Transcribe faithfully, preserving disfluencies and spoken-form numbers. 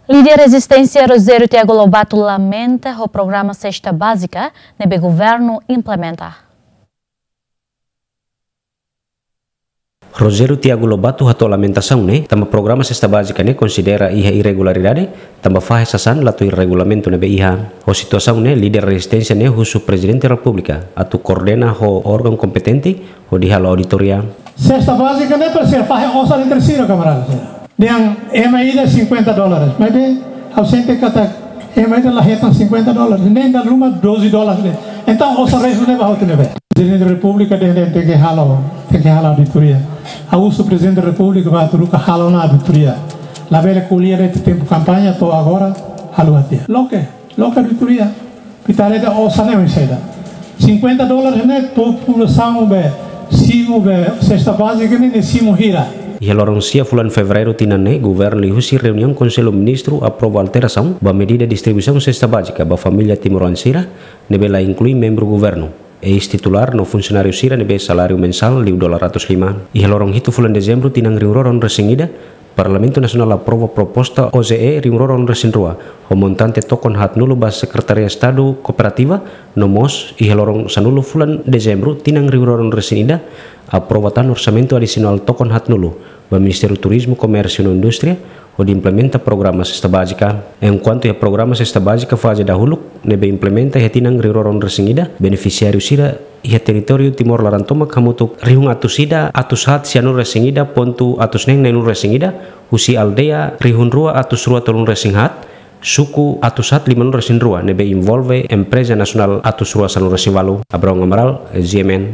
Líder rezisténsia Rogério Tiago Lobato lamenta ho programa sesta bázika ne'ebé governu implementa. Rogério Tiago Lobato hato'o lamentasaun ne'e tanba programa sesta bázika ne'e konsidera iha irregularidade, tanba fahe sasán la tuir regulamentu ne'ebé iha. Ho situasaun ne'e, líder rezisténsia ne'e husu Prezidente Repúblika atu koordena ho órgaun kompetente hodi halo auditoria. Sesta bázika ne'e para ser fahe osan entre sira, kamarada sira. Dehan ema ida cinquenta dólares, maibé ha'u sente katak ema ida la hetan cinquenta dólares, nein dala ruma doze dólares de'it. Entaun osan restu ne'e ba hotu ne'ebé? Prezidente Repúblika dehan tenke halo, tenke halo auditoria. Ha'u husu Prezidente Repúblika ba atu haruka halo ona auditoria. Labele ko'alia de'it tempu kampaña to'o agora, halo até. Loke, loke auditoria. Pitareta osan ne'e oinsá ida? Cinquenta dólares ne'e populasaun be simu be sesta bázika ne'e, ne'e simu hira? Iha loron sia fulan Fevereiru tinan ne'e, governu liuhusi reuniaun Konsellu Ministru aprova alterasaun ba medida distribuisaun sesta bázika ba família timoroan sira ne'ebé la inklui membru governu, eis-titulár no funsionáriu sira ne'ebé saláriu mensál liu dolar ratus lima. Iha loron hitu fulan Dezembru tinan rihun rua ruanulu-resin-ida, Parlamentu Nasionál aprova proposta O J E rihun rua ruanulu-resin-rua, ho montante tokon haatnulu ba Sekretaria Estadu Kooperativa, no mós iha loron sanulu fulan Dezembru tinan rihun rua ruanulu-resin-ida, aprova tan orsamentu adisionál tokon haatnulu ba Ministériu Turizmu, Komérsiu no Indústria, hodi implementa programa sesta bázika. Enkuantu iha programa sesta bázika faze dahuluk ne'ebé implementa iha tinan rihun rua ruanulu-resin-ida, benefisiáriu sira iha territóriu Timor laran tomak hamutuk rihun atus ida, atus haat sianulu-resin-ida pontu atus neen neenulu-resin-ida, husi aldeia rihun rua atus rua tolunulu-resin-haat, suku atus haat limanulu-resin-rua ne'ebé envolve empreza nasionál atus rua sanulu-resin-walu. Abraão Amaral, G M N.